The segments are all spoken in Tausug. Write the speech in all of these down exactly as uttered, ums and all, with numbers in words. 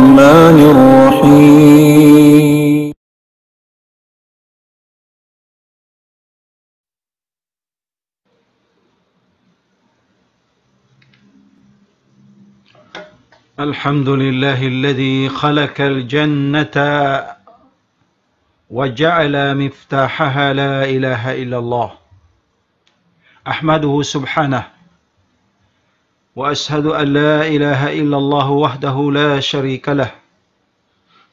الرحمن الرحيم. الحمد لله الذي خلق الجنة وجعل مفتاحها لا إله إلا الله. أحمده سبحانه، وأشهد أن لا إله إلا الله وحده لا شريك له،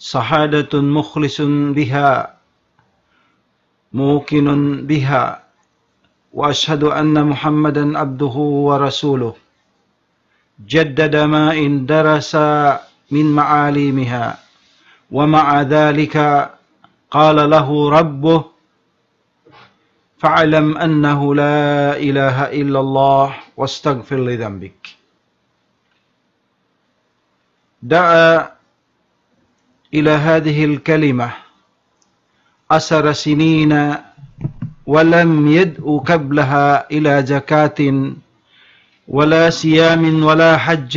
شهادة مخلص بها موقن بها، وأشهد أن محمدا عبده ورسوله، جدد ما اندرس من معالمها، ومع ذلك قال له ربه: فاعلم أنه لا إله إلا الله واستغفر لذنبك. دعا إلى هذه الكلمة عشر سنين ولم يدع قبلها إلى زكاة ولا صيام ولا حج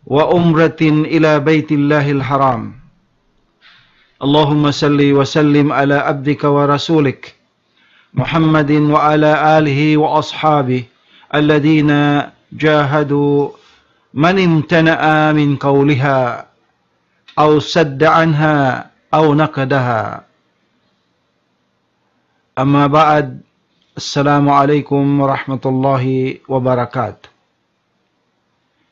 وعمرة إلى بيت الله الحرام. اللهم صل وسلم على عبدك ورسولك محمد وعلى آله وأصحابه الذين جاهدوا من امتنع من قولها أو صد عنها أو نقدها. أما بعد، السلام عليكم ورحمة الله وبركاته.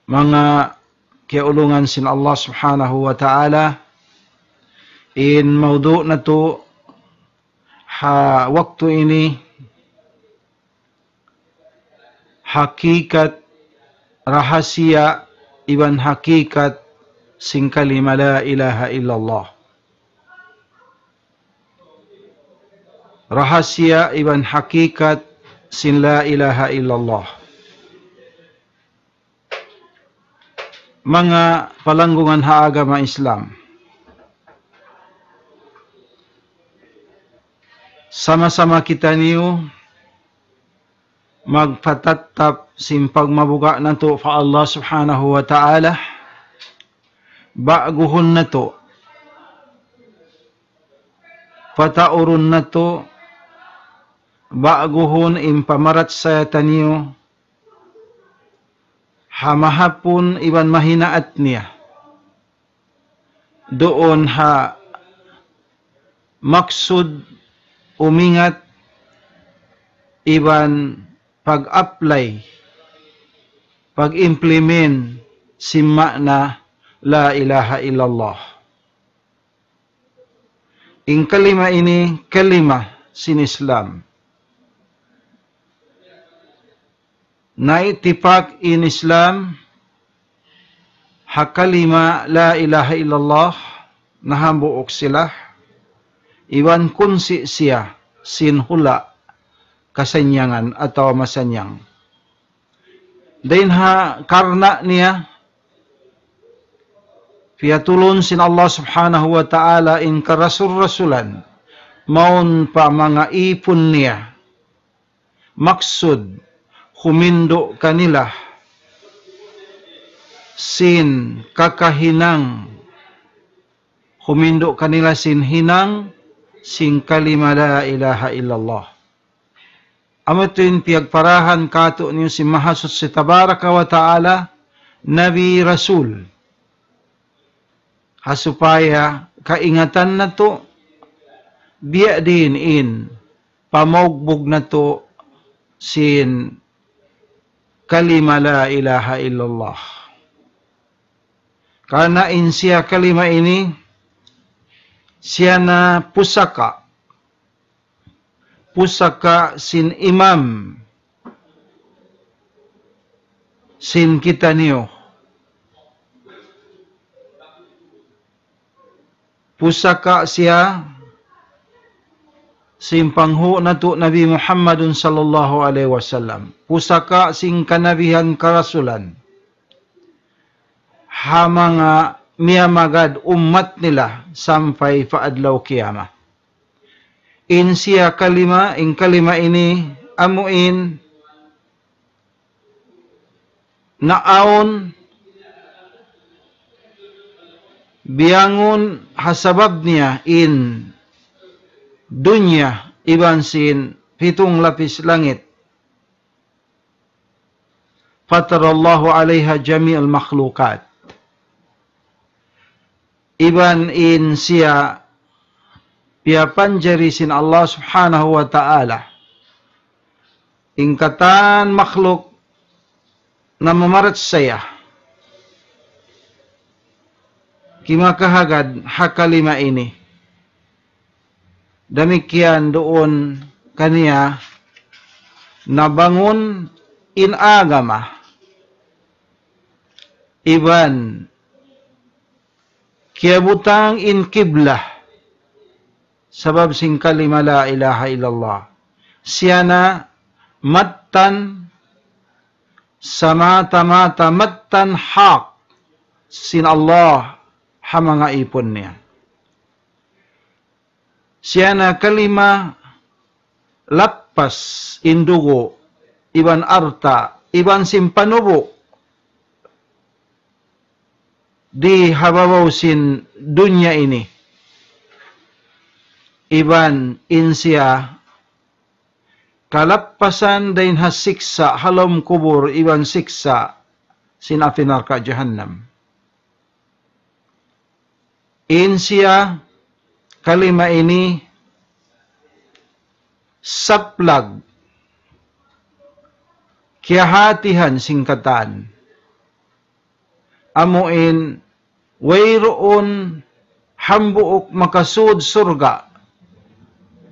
Manga kiyaulungan sin Allah Subhanahu wa Ta'ala, in mawdu' natu' ha waktu ini, hakikat, rahasiya iban hakikat sin kalima la ilaha illallah. Rahasiya iban hakikat sin la ilaha illallah. Manga palanggungan ha agama Islam, sama-sama kitaniyu magpatattap sin pagmabuga' natu' pa Allah Subhanahu wa Ta'ala, ba'guhun natu', pataurun natu', ba'guhun in pamarachaya taniyu ha mahapun iban mahinaat niya. Duun ha maksud umingat iban pag-apply, pag-implement sin ma'na la ilaha illallah. In kalima ini, kalima sin Islam. Naitipak in Islam ha kalima la ilaha illallah, nahambuuk sila, iban kunsi siya sin hula' kasannyangan atawa masanyang. Dayn ha karna' niya, piyatulun sin Allah Subhanahu wa Ta'ala in karasul-rasulan, mawn pa manga ipun niya. Maksud, humindu' kanila sin kakahinang, humindu' kanila sin hinang, sin kalima la ilaha illallah. Amu tuud in piyagparahan kātu'niyu sin Mahasuchi Tabaraka wa Ta'ala, Nabi, Rasul. Ha supaya kaingatan natu', biya' diin in pamaugbug natu' sin kalima la ilaha illallah. Karna' in siya kalima ini, siya na pusaka, pusaka sin imam sin kitaniyu. Pusaka siya sin panghu' natu' Nabi Muhammadun sallallahu alayhi wasallam. Pusaka sin kanabihan karasulan ha manga miyamagad ummat nila sampay pa adlaw kiyamat. In siya kalima, in kalima ini amu in naawn biyangun ha sabab niya in dunya iban sin pitung lapis langit. فطر الله عليها جميع المخلوقات. Iban in siya piyapanjari sin Allah Subhanahu wa Ta'ala in katan makhluk na mamarachaya kimakahagad ha kalima ini. Damikkiyan duun kaniya nabangun in agama iban kiyabutang in kiblah sabab sin kalima la ilaha illallah. Siya na mattan samata-mata mattan hak sin Allah ha manga ipun niya. Siya na kalima lappas in dugu' iban alta' iban sin panubu' di ha babaw sin dunya ini. Iban in siya kalappasan dayn ha siksa' ha lawm kubul iban siksa' sin api narka' jahannam. In siya kalima ini saplag kiyahatihan sin katan. Amu in wayruun hambuuk makasud surga'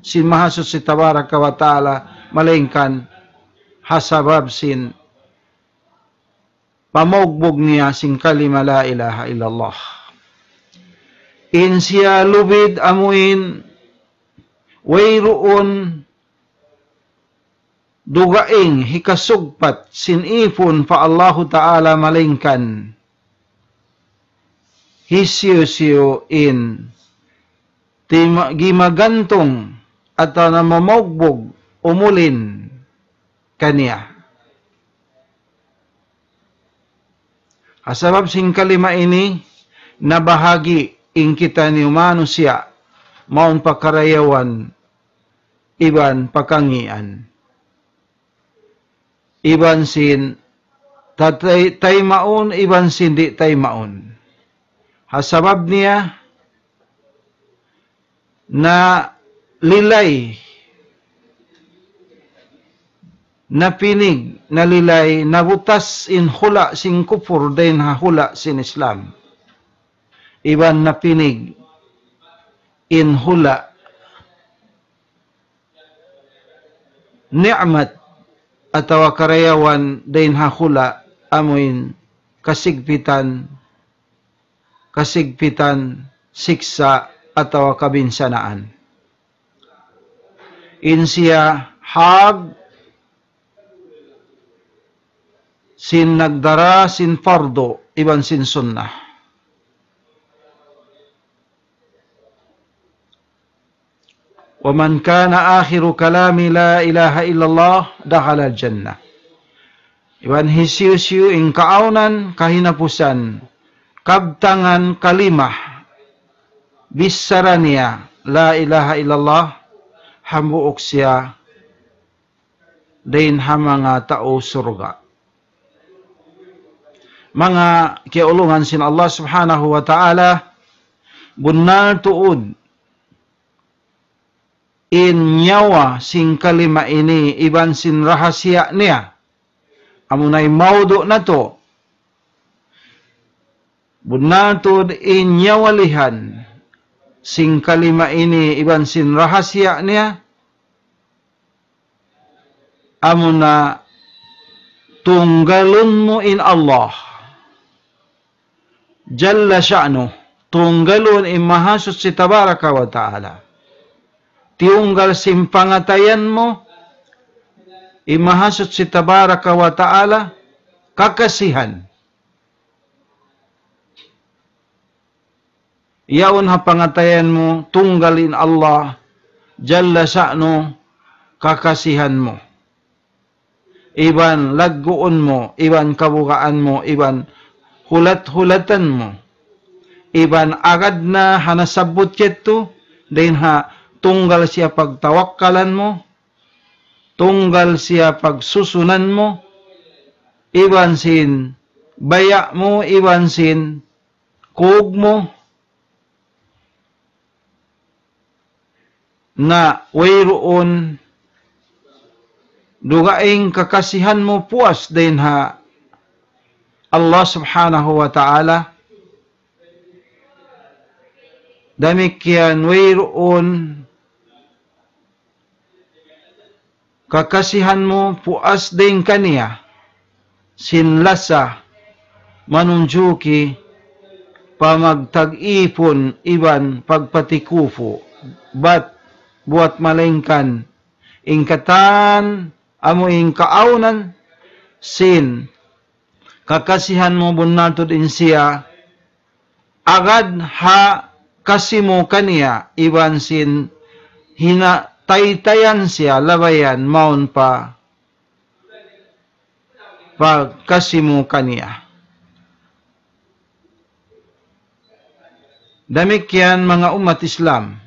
sin Mahasuchi Tabaraka wa Ta'ala, malaingkan ha sabab sin pamaugbug niya sin kalima la ilaha illallah. In siya lubid amuin wayruun dugaing hikasugpat sin ipun pa Allahu Ta'ala malaingkan hisiyu-siyu in tima-, gimagantung atawa namamaugbug umulin kaniya. Ha sabab sin kalima ini, nabahagi' in kitaniyu manusiya', mawn pa karayawan, iban pa kangīan. Iban sin tatay-, taymaun, iban sin di' taymaun. Ha sabab niya, nalilay, napinig, nalilay, nabutas in hula' sin kupur dayn ha hula' sin Islam. Iban napinig in hula' ni'mat atawa karayawan dayn ha hula' amuin kasigpitan, kasigpitan, siksa' atawa kabinsanaan. In siya hag sin nagdara sin fardu iban sin sunnah. ومن كان آخر كلامه لا إله إلا الله دخل الجنة. Iban hisiyu-siyu in kaawnan kahinapusan kabtangan kalima bichara niya la ilaha illallah, hambuuk siya dayn ha manga tau surga'. Manga kiyaulungan sin Allah Subhanahu wa Ta'ala, bunnal tuud in nyawa sin kalima ini iban sin rahasiya niya. Amu na in maudu' natu'. Bunnal tuud in nyawalihan sin kalima ini iban sin rahasiya niya. Amu na tunggalun mu in Allah Jalla sha'nuh, tunggalun in Mahasuchi Tabaraka wa Ta'ala. Tiyunggal sin pangatayan mu in Mahasuchi Tabaraka wa Ta'ala kakasihan. Yaun ha pangatayan mu, tunggal in Allah Jalla sha'nuh kakasihan mu. Iban lagguun mu, iban kabugaan mu, iban hulat-hulatan mu. iban agad na ha nasabbut yadtu, dayn ha tunggal siya pagtawakkalan mu, tunggal siya pagsusunan mu, iban sin baya' mu, iban sin kug mu, na wayruun dugaing kakasihan mu puas dayn ha Allah Subhanahu wa Ta'ala. Damikkiyan wayruun kakasihan mu puas dayn kaniya sin lasa manunjuki pa magtag-ipun iban pagpatikupu, bat buwat malaingkan in katan amu in kaawnan sin kakasihan mu bunnal tuud in siya agad ha kasi mu kaniya iban sin hinataytayan siya labayan mawn pa pagkasi mu kaniya. Damikkiyan manga ummat Islam.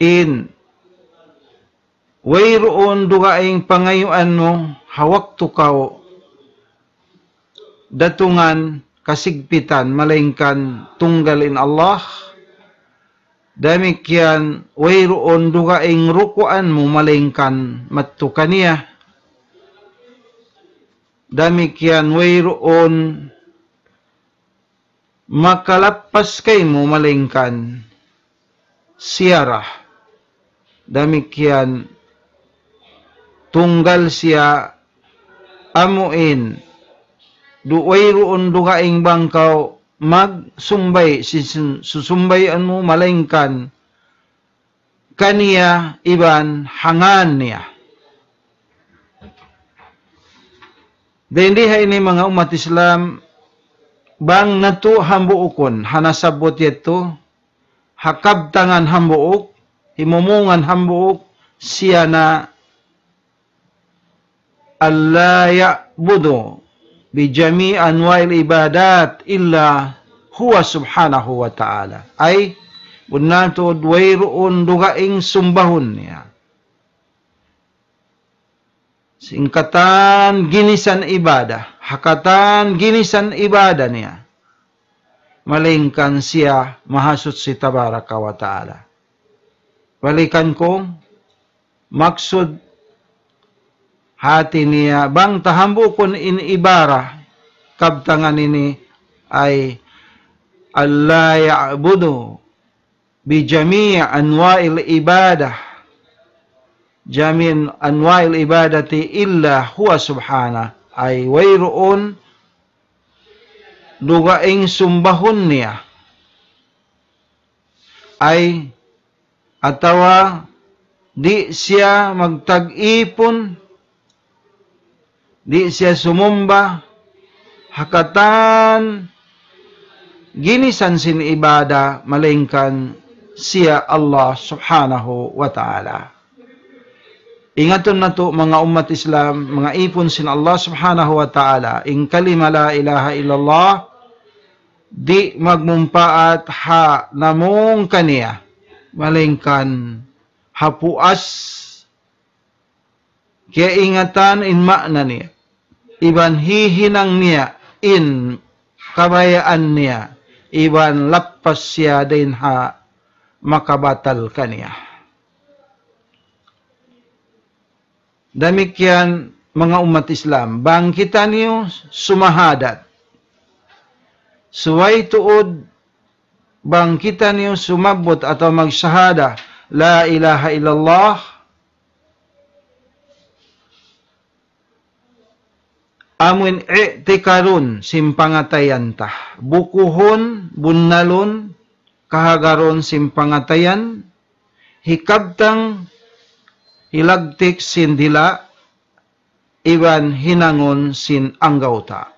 In wayruun dugaing pangayuan mu ha waktu kaw datungan kasigpitan, malaingkan tunggal in Allah. Damikkiyan wayruun dugaing rukuan mu, malaingkan madtu kaniya. Damikkiyan wayruun makalappas kaymu, malaingkan siya ra. Damikkiyan tunggal siya amuin du-, wayruun dugaing bang kaw magsumbay, sin-, sin-, susumbayan mu, malaingkan kaniya iban ha ngan niya. Dayn di ha ini manga ummat Islam, bang natu' hambuukun ha nasabbut yadtu, ha kabtangan hambuuk, himumungan hambuuk, siya na ألا يعبد بجميع أنواع العبادات إلا هو سبحانه وتعالى. Ay, bunnal tuud wayruun dugaing sumbahun niya. Sin katan ginisan ibadah, ha katan ginisan ibadah niya. Malaingkan siya Mahasuchi Tabaraka wa Ta'ala. Balikan ku, maksud hati niya, bang ta hambuukun in ibarah, kabtangan ini ay, ألا يعبد بجميع أنواع العبادة، جميع أنواع العبادة إلا هو سبحانه. Ay wayruun dugaing sumbahun niya. Ay, atawa di' siya magtag-ipun, di' siya sumumba ha katan ginisan sin ibadah, malaingkan siya Allah Subhanahu wa Ta'ala. Ingatun natu', manga ummat Islam, manga ipun sin Allah Subhanahu wa Ta'ala, in kalima la ilaha illallah, di' magmumpaat ha namung kaniya, malaingkan ha puas kiyaingatan in maana niya, iban hihinang niya in kabayaan niya, iban lappas siya dayn ha makabatal kaniya. Damikkiyan manga ummat Islam, bang kitaniyu sumahadat, subay tuud bang kitaniyu sumabbut atawa magsahada, la ilaha illallah, amuin i'tikarun sin pangatayan ta, bukuhun, bunnalun, kahagarun sin pangatayan, hikabtang, hilagtik sin dila', iban hinangun sin anggawta'.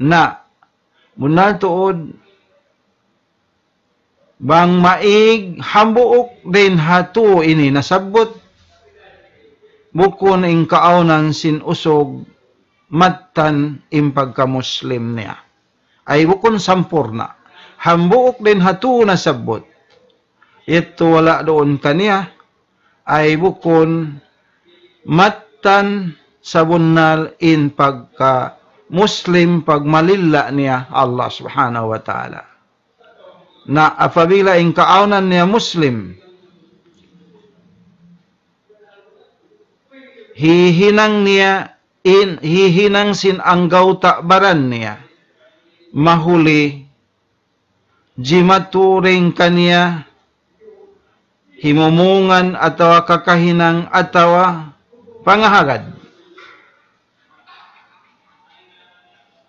Na, bunnal tuud, bang maig hambuuk dayn ha tū ini nasabbut, bukun in kaawnan sin usug mattan in pagka-Muslim niya. Ay bukun sampurna'. Hambuuk dayn ha tū nasabbut. Yadtu wala' duun kaniya, ay bukun mattan sabunnal in pagka-Muslim, pagmalilla' niya Allah Subhanahu wa Ta'ala. Na apabila in kaawnan niya Muslim, hihinang niya in, hihinang sin anggawta' baran niya, mahuli jimatu dayn kaniya himumungan atawa kakahinang atawa pangahagad.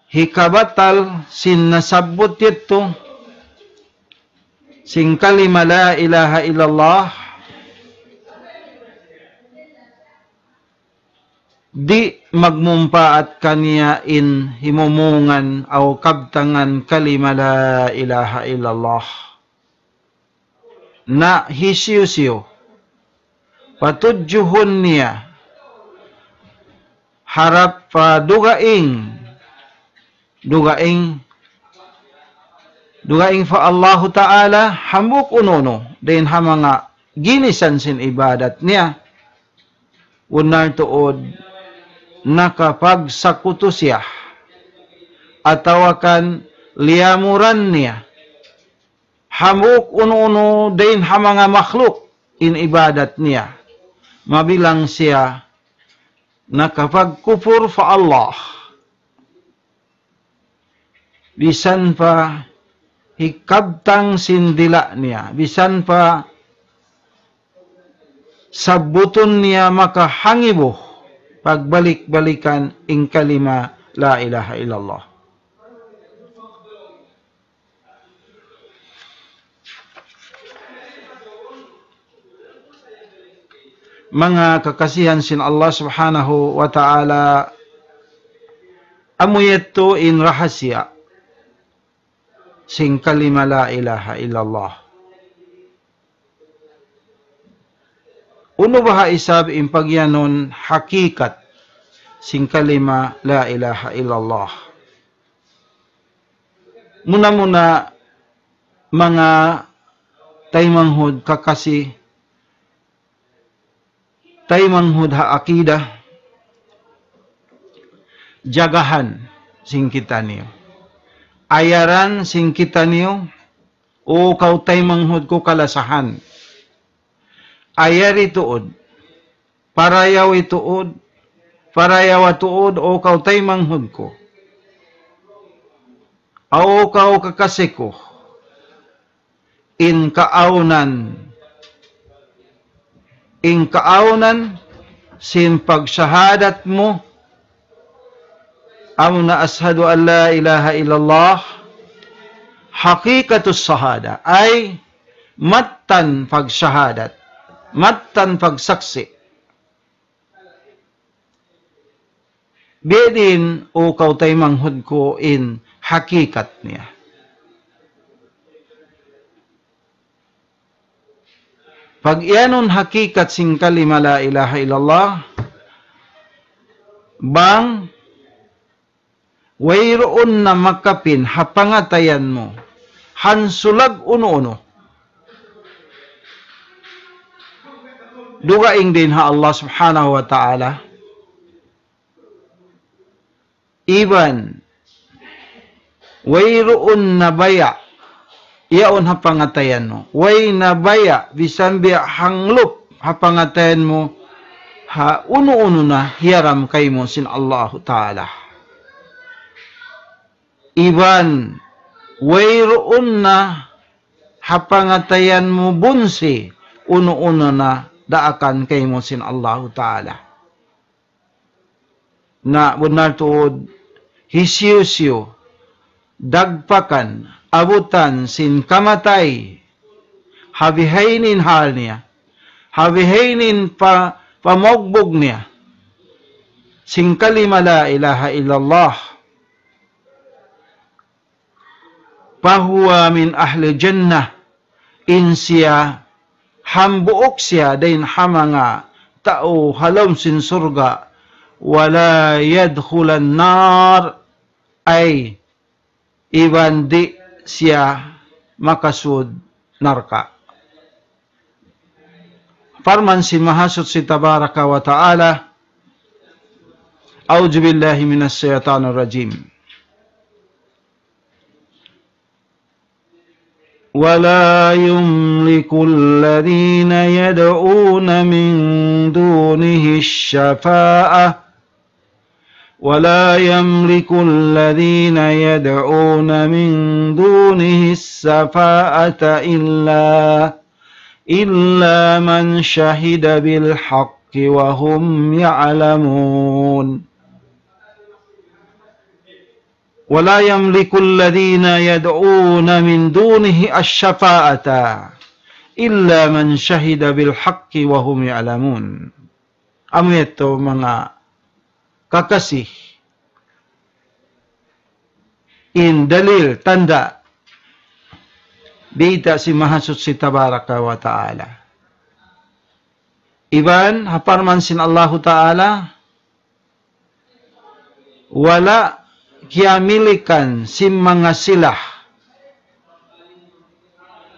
Hikabatal sin nasabbut yadtu sin kalima la ilaha illallah, di' magmumpaat kaniya in himumungan aw kabtangan kalima la ilaha illallah. Na hisiyu-siyu patudjuhun niya harap pa dugaing, dugaing, dugaing pa Allahu Ta'ala, hambuuk unu-unu dayn ha manga ginisan sin ibadat niya, bunnal tuud nakapagsakutu siya, atawa kan liyamuran niya hambuuk unu-unu dayn ha manga makhluk in ibadat niya, mabilang siya nakapagkupur pa Allah. Bisan pa hikabtang sin dila' niya, bisan pa sabbutun niya makahangibu, pagbalik-balikan in kalima la ilaha illallah. Manga kakasihan sin Allah Subhanahu wa Ta'ala, amu yadtu in rahasiya sin kalima la ilaha illallah. Unu baha' isab in pagiyanun hakikat sin kalima la ilaha illallah? Muna-muna, manga taymanghud kakasi, taymanghud ha akida, jagahan sin kitaniyu. Ayaran sin kitaniyu, o kaw taymanghud ku kalasahan. Ayari tuud, parayawi tuud, parayawa tuud, o kaw taymanghud ku. O kaw kakasi ku. In kaawnan, in kaawnan sin pagsahadat mu, amuna ashhadu an la ilaha illallah, hakikatus shahada, ay mattan pagsahadat, mattan pagsaksi'. Biya' diin, o kaw taymanghud ku, in hakikat niya? Pag-iyanun hakikat sin kalima la ilaha illallah, bang wayruun na makapin ha pangatayan mu hansulag unu-unu dugaing dayn ha Allah Subhanahu wa Ta'ala, iban wayruun na baya' yaun ha pangatayan mu, way na baya' bisan biya' hanglup ha pangatayan mu ha unu-unu na hiyaram kaymu sin Allahu Ta'ala. Iban wayruun na ha pangatayan mu bunsi unu-unu na daakan kaymu sin Allahu Ta'ala. Na bunnal tuud, hisiyu-siyu dagpakan, abutan sin kamatay, ha bihaini in hal niya, ha bihaini in pa-, pamugbug niya sin kalima la ilaha illallah, فهو من أهل الجنة, in siya hambuuk siya dayn ha manga tau ha lawm sin surga', ولا يدخل النار, ay iban di' siya makasud narka'. Parman sin Mahasuchi Tabaraka wa Ta'ala, أعوذ بالله من الشيطان الرجيم. ولا يملك الذين يدعون من دونه الشفاعة، ولا يملك الذين يدعون من دونه الشفاعة إلا، إلا من شهد بالحق وهم يعلمون. ولا يملك الذين يدعون من دونه الشفاعة إلا من شهد بالحق وهم يعلمون. Amu yadtu manga kakasi in dalil tanda' biyayta' sin Mahasuchi Tabaraka wa Ta'ala. Iban ha parman sin Allahu Ta'ala, wala' kiyamilikan sin manga sila.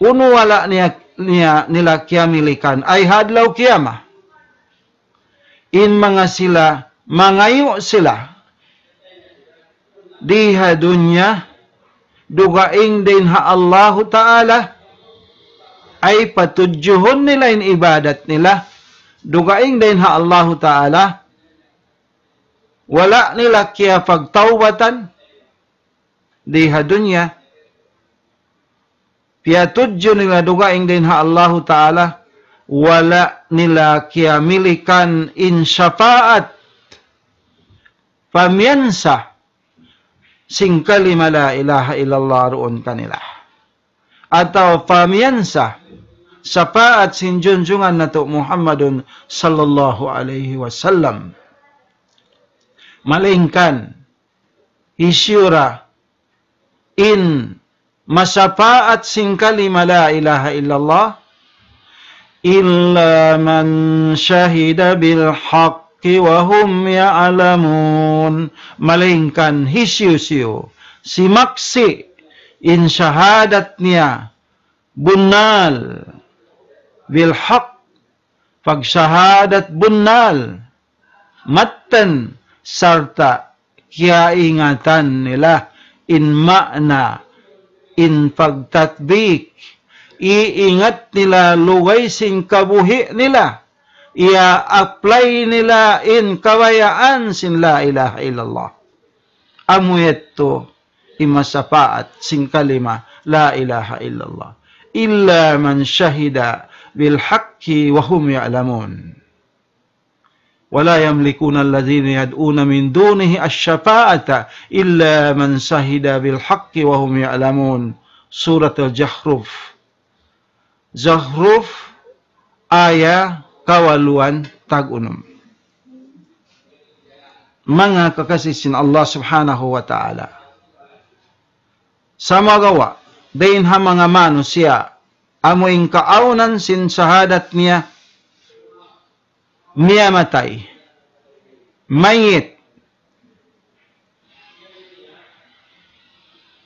Unu wala' niya, niya, nila kiyamilikan, ay ha adlaw kiyama. In manga sila, mangayu' sila di ha dunya, dugaing dayn ha Allahu Ta'ala, ay patudjuhun nila in ibadat nila, dugaing dayn ha Allahu Ta'ala, wala' nila kiyapagtawbatan di ha dunya, piyatudju nila dugaing dayn ha Allahu Ta'ala, wala' nila kiyamilikan in shafaat, pamiyansa sin kalima la ilaha illallah duun kanila. Atawa pamiyansa shafaat sin junjungan natu' Muhammadun sallallahu alayhi wasallam. Malaingkan, hisiyu ra in mashafaat sin kalima la ilaha illallah, إلا من شهد بالحق وهم يعلمون. Malaingkan hisiyu-siyu simaksi' in shahadat niya bunnal, bil haq, pagshahadat bunnal, mattan sarta' kiyaingatan nila in ma'na, in pagtatbik, iingat nila lugay sin kabuhi' nila, iya-apply nila in kabayaan sin la ilaha illallah. Amu yadtu in mashafaat sin kalima la ilaha illallah. إلا من شهد بالحق وهم يعلمون. ولا يملكون الذين يدعون من دونه الشفاعة إلا من شهد بالحق وهم يعلمون. Surat Al-Zukhruf. Zukhruf, aya kawaluan tag unum. Manga kakasi sin Allah Subhanahu wa Ta'ala. Sumagawa', dayn ha manga manusiya', amu in kaawnan sin shahadat niya, miyatay, mayit.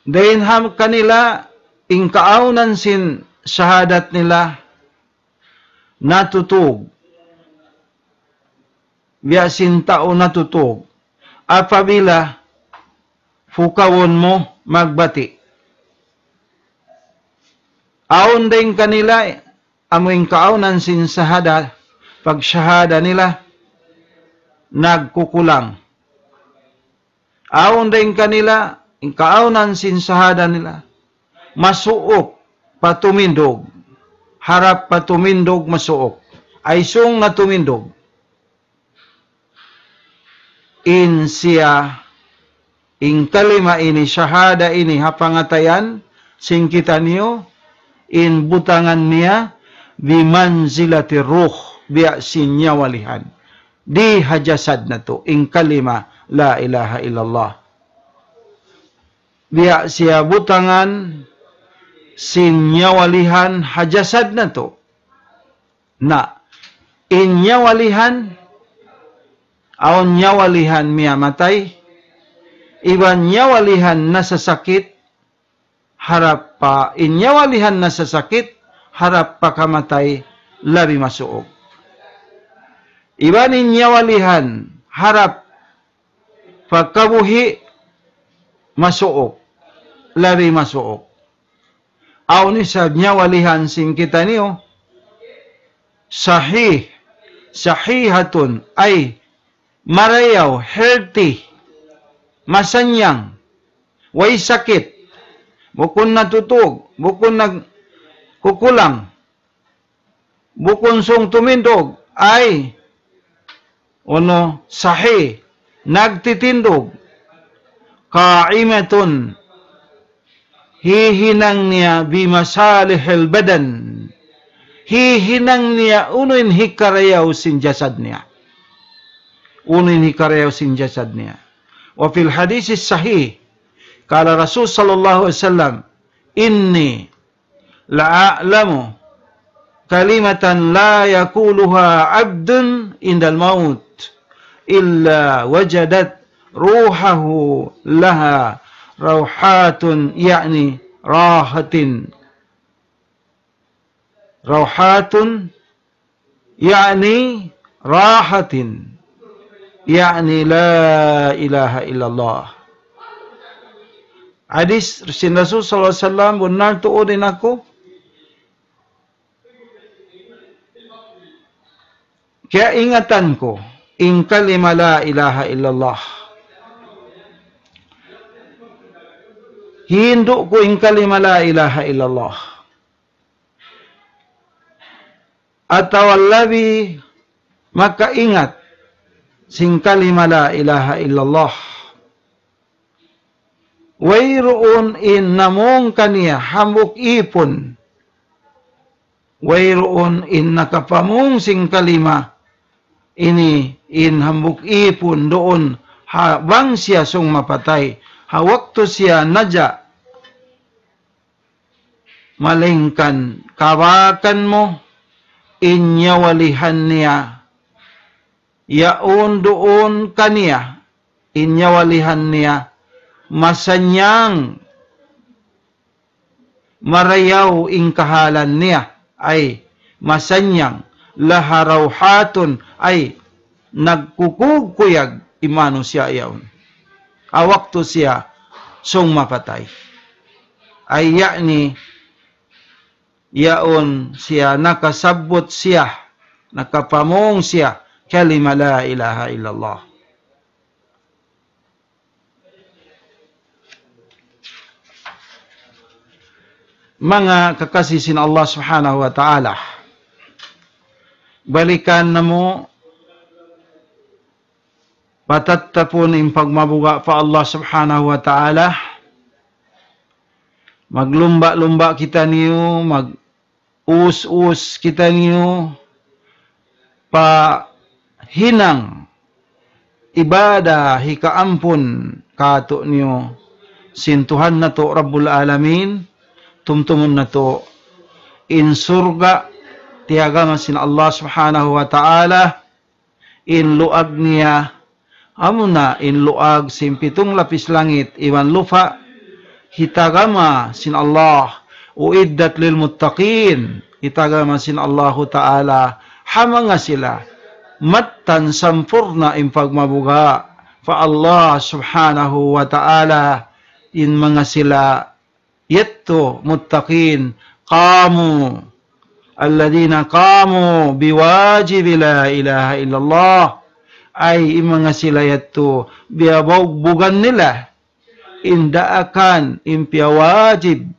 Dayn ha kanila, in kaawnan sin shahadat nila, natutug. Biya' sin tau natutug. Apabila pukawun mu magbati'. Awn dayn kanila, amu in kaawnan sin shahada, pagshahada nila, nagkukulang. Awn dayn kanila, in kaawnan sin shahada nila, masuuk pa tumindug, harap pa tumindug masuuk, ay sung na tumindug. In siya, in kalima ini, shahada ini, ha pangatayan sin kitaniyu, in butangan niya, بمنزلة الروح, biya' sin nyawalihan. Di ha jasad natu', in kalima, la ilaha illallah. Biya' siya butangan sin nyawalihan ha jasad natu'. Na, in nyawalihan, awn nyawalihan miyamatay, iban nyawalihan nasasakit, harap pa in nyawalihan nasasakit, harap pa kamatay labi masuuk. Iban in nyawalihan harap pa kabuhi masuuk, labi masuuk. Awn isab nyawalihan sin kitaniyu, sahih, sahihatun, ay marayaw, healthy, masannyang, way sakit, bukun natutug, bukun nagkukulang, bukun sung tumindug, ay, unu, sahih, nagtitindug, qa'imatun, hihinang niya bimasalihil badan, hihinang niya unu in hikarayaw sin jasad niya. Unu in hikarayaw sin jasad niya. وفي الحديث الصحيح قال رسول صلى الله عليه وسلم: إني لأعلم كلمة لا يقولها عبد عند الموت إلا وجدت روحه لها روحات، يعني راحة، روحات، يعني راحة، يعني لا إله إلا الله. Hadis sin Rasul sallallahu alayhi wasallam, bunnal tuud in aku kiyaingatan ku in kalima la ilaha illallah. Hindu' ku in kalima la ilaha illallah. Atawa labi makaingat sin kalima la ilaha illallah. Wayruun in namung kaniya hambuuk īpun. Wayruun in nakapamung sin kalima ini in hambuuk īpun duun ha bang siya sung mapatay. Ha waktu siya naja', malaingkan kabakan mu in nyawalihan niya, yaun duun kaniya in nyawalihan niya, masannyang, marayaw in kahalan niya, ay masannyang, laha rawhatun, ay nagkukuyag-kuyag in manusiya' yaun. Ha waktu siya sung mapatay. Ay ya'ni, yaun siya nakasabbut siya, nakapamung siya, kalima la ilaha illallah. Manga kakasi sin Allah Subhanahu wa Ta'ala, balikan namu' patattapun in pagmabuga' pa Allah Subhanahu wa Ta'ala. Maglumba'-lumba' kitaniyu, mag-us-us kitaniyu pa hinang ibadah hikaampun kātu'niyu sin Tuhan natu' Rabbul Alamin. Tumtumun natu' in surga' tiyagama sin Allah Subhanahu wa Ta'ala, in luag niya, amuna in luag sin pitung lapis langit iban lupa', hitagama sin Allah, أعدت للمتقين, hitagama sin Allahu Ta'ala ha manga sila mattan sampurna' in pagmabuga' pa Allah Subhanahu wa Ta'ala, in manga sila yadtu muttaqin, قاموا، الذين قاموا بواجب لا إله إلا الله. Ay, in manga sila yadtu, biyabugbugan nila in daakan, in piyawajib,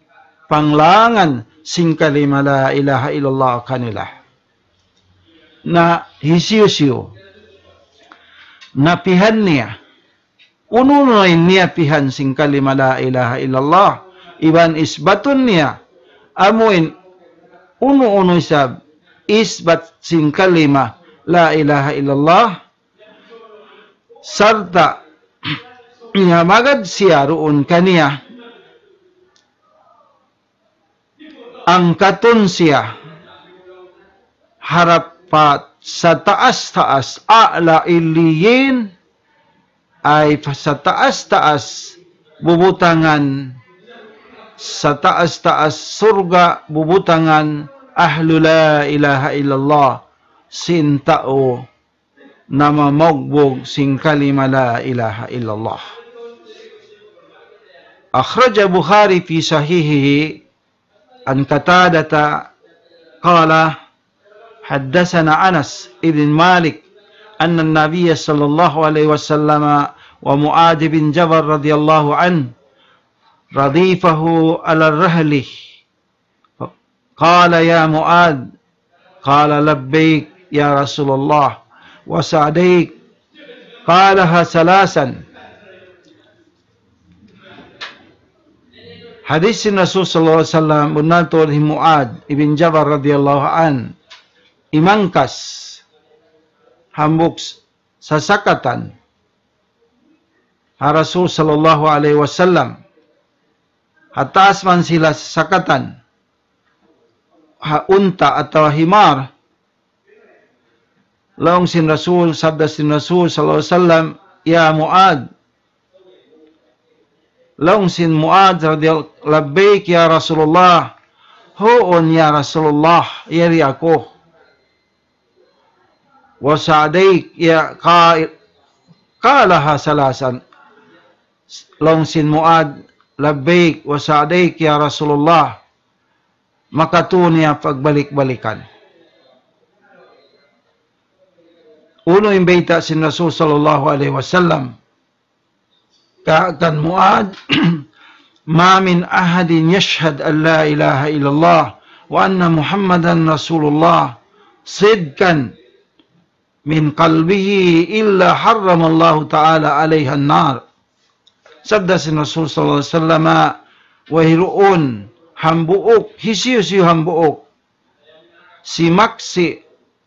panglangan sin kalima la ilaha illallah kanila. Na hisiyu-siyu napihan niya unu-unu in niyapihan sin kalima la ilaha illallah, iban isbatun niya, amuin unu-unu isab isbat sin kalima la ilaha illallah, sarta' niya magad siya duun kaniya, angkatun siya harap pa sataas-taas, a'la illiyin, ay sataas-taas bubutangan, sataas-taas surga' bubutangan ahlu la ilaha illallah, sin tau namamagbug sin kalima la ilaha illallah. أخرج البخاري في صحيحه عن قتادة قال: حدثنا أنس بن مالك أن النبي صلى الله عليه وسلم ومعاذ بن جبل رضي الله عنه ردفه على الرحل فقال: يا معاذ. قال: لبيك يا رسول الله وسعديك. قالها ثلاثا. Hadis sin Rasul sallallahu alayhi wasallam, bunnal tuud hi Muadz ibn Jabal radiyallahu anhu, imangkas hambuuk sasakatan ha Rasul sallallahu alayhi wasallam. Ha taas man sila sasakatan, ha unta atawa himar. Laung sin Rasul, sabda sin Rasul sallallahu alayhi wasallam, يا معاذ. Laung sin Muadz radiyallahu, لبيك يا رسول الله. Huun ya Rasulullah, yari aku. وسعديك يا قا-، قالها ثلاثا. Laung sin Muadz, لبيك وسعديك يا رسول الله. Makatū niya pagbalik-balikan. Unu in bayta' sin Rasul sallallahu alayhi wasallam kan Muadz, ما من أحد يشهد أن لا إله إلا الله وأن محمدا رسول الله صدقا من قلبه إلا حرم الله تعالى عليه النار. Sabda sin Rasul sallallahu alayhi wasallam, wayruun hambuuk, hisiyu-siyu hambuuk simaksi'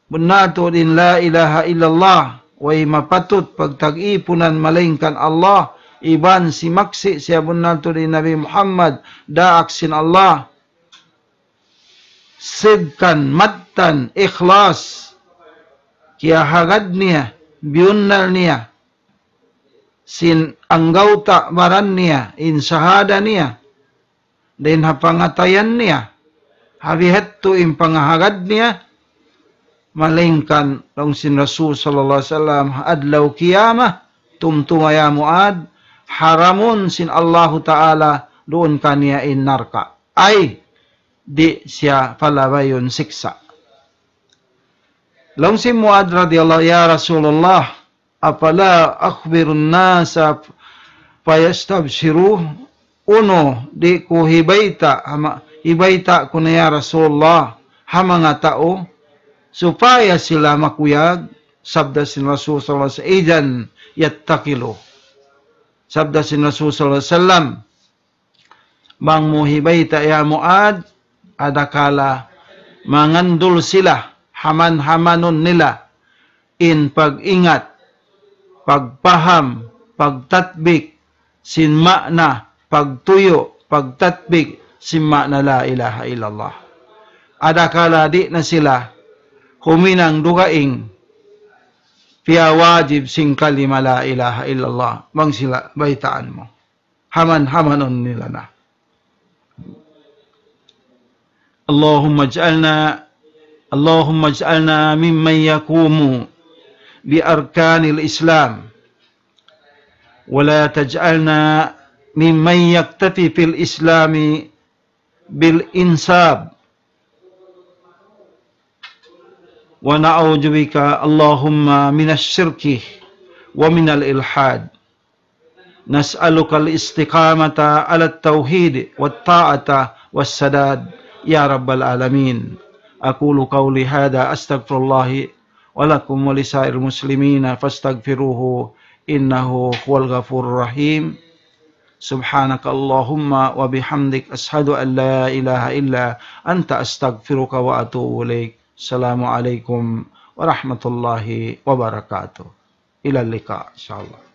bunnal tuud in la ilaha illallah, way mapatut pagtag-ipunan malaingkan Allah, iban simaksi' siya bunnal tuud in Nabi Muhammad daak sin Allah, sidkan, mattan, ikhlas, kiyahagad niya, biyunnal niya sin anggawta' baran niya, in sahada niya, dayn ha pangatayan niya, ha bihadtu in pangahagad niya, malaingkan laung sin Rasul sallallahu alayhi wasallam, adlaw qiyamah, tumtuma ya Muadz, haramun sin Allahu Ta'ala duun kaniya in narka'. Ay, di' siya palabayun siksa'. Laung sin Muadz radiyallahu, يا رسول الله، أفلا أخبر الناس فيستبشروا؟ Unu, di' ku hibayta', hama-, hibayta' ku na ya Rasulullah, ha manga tau, supaya sila makuyag, sabda sin Rasul sallallahu alayhi wasallam, إذا يتكلوا. Sabda sin Rasul sallallahu alayhi wasallam, bang mu hibayta' ya Muadz, adakala mangandul sila, haman-hamanun nila in pag-ingat, pagpaham, pagtatbik sin ma'na, pagtuyu', pagtatbik sin ma'na la ilaha illallah. Adakala di' na sila huminang dugaing piyawajib sin kalima la ilaha illallah, bang sila baytaan mu. Haman-hamanun nila na. اللهم اجعلنا، اللهم اجعلنا ممن يقوم بأركان الإسلام، ولا تجعلنا ممن يكتفي في الإسلام بالإنساب، ونعوذ بك اللهم من الشرك ومن الإلحاد. نسألك الاستقامة على التوحيد والطاعة والسداد يا رب العالمين. أقول قولي هذا، أستغفر الله ولكم ولسائر المسلمين فاستغفروه إنه هو الغفور الرحيم. سبحانك اللهم وبحمدك، أشهد أن لا إله إلا أنت، أستغفرك وأتوب إليك. السلام عليكم ورحمة الله وبركاته. إلى اللقاء إن شاء الله.